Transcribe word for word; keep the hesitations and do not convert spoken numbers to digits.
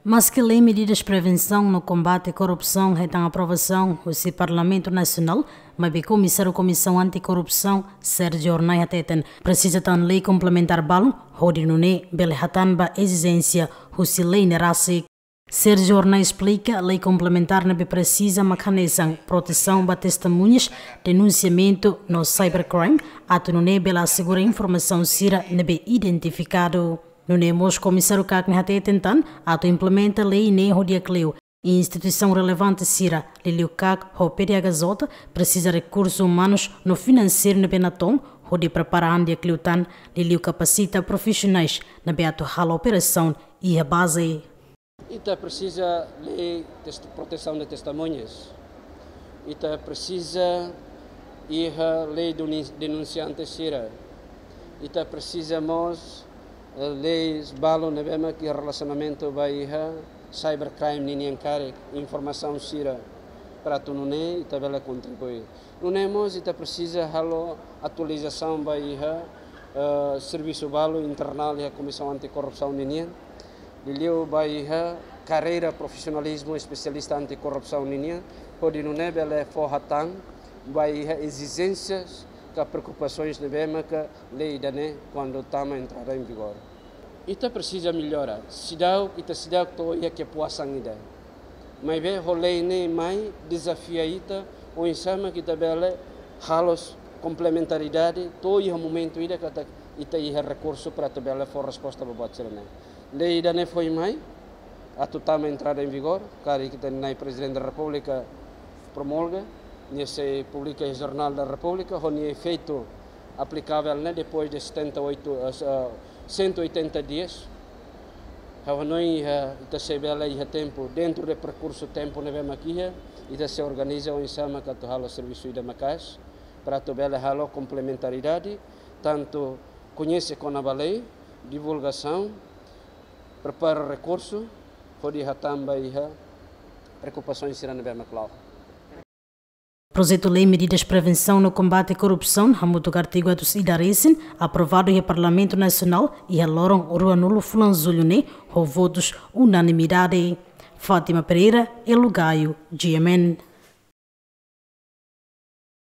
Maske lei medidas prevensaun no kombate korrupsaun hetan aprovasaun husi Parlamentu Nasionál, maibé Komisáriu Komisaun Anti-Korrupsaun, Sérgio Hornai hateten, presiza tan lei komplementár balun, hodi nune'e bele hatán ba ezijénsia husi lei ne'e rasik. Sérgio Hornai esplika, lei komplementár ne'ebé presiza mak hanesan protesaun ba testemuñas, denunsiamentu no cybercrime, atu nune'e bele asegura informasaun sira ne'ebé identifikadu. Nune'e mós Komisáriu Cagney hateten tan, atu implementa lei ne'e ho di'ak liu, instituisaun relevante sira, liuliu CAC ho P D H J, presiza rekursu umanus no finanseiru ne'ebé natoon, hodi prepara an di'ak liu tan, liuliu kapasita profisionais ne'ebé atu halo operasaun iha baze. Ita presiza lei test-, protesaun de testemuñas. Ita presiza iha lei duni-, denunsiante sira. Ita presiza mós, eh, leis balun ne'ebé mak iha relasionamentu ba iha cybercrime ninian karik, informasaun sira, para atu nune'e ita bele kontribui. Nune'e mós ita presiza halo atualizasaun ba iha, eh, servisu balu internál iha Komisaun Anti-Korrupsaun ninian. Liuliu ba iha karreira profisionalizmu espesialista anti-korrupsaun ninian, hodi nune'e bele fó hatán ba iha ezijénsias ka preokupasoens ne'ebé maka lei ida-ne'e kuandu tama entrada em vigor. Ita presiza mellora. Seidauk, ita seidauk to'o iha kepuasan ida. Maibé ho lei ne'e mai dezafia ita, oinsá mak ita bele halo komplementaridade, to'o iha momentu ida katak ita iha rekursu para atu bele fó resposta ba buat sira-ne'e. Lei ida-ne'e foin mai, atu tama entrada em vigor, karik ita-nia Prezidente da Repúblika promulga, nia sei publika iha Jornál da Repúblika, ho nia efeitu aplikavel ne'e depois de setenta e oito, eh, se-, eh, cento e oitenta dias. Ha'u hanoin, eh, ita sei bele iha tempu, dentro de perkursu tempu ne'ebé mak iha, ita sei organiza oinsá mak atu halo servisu ida maka'as, para atu bele halo komplementaridade, tantu koñese kona-ba lei, divulgasaun, prepara rekursu, hodi hatán ba iha preokupasoens sira ne'ebé mak la'o. Projetu lei medidas prevensaun no kombate korrupsaun, hamutuk artigu atus ida resin, aprovadu iha Parlamentu Nasionál, iha loron ruanulu fulan Jullu ne'e, ho votus unanimidade. Fátima Pereira, Elo Gaio, G M N.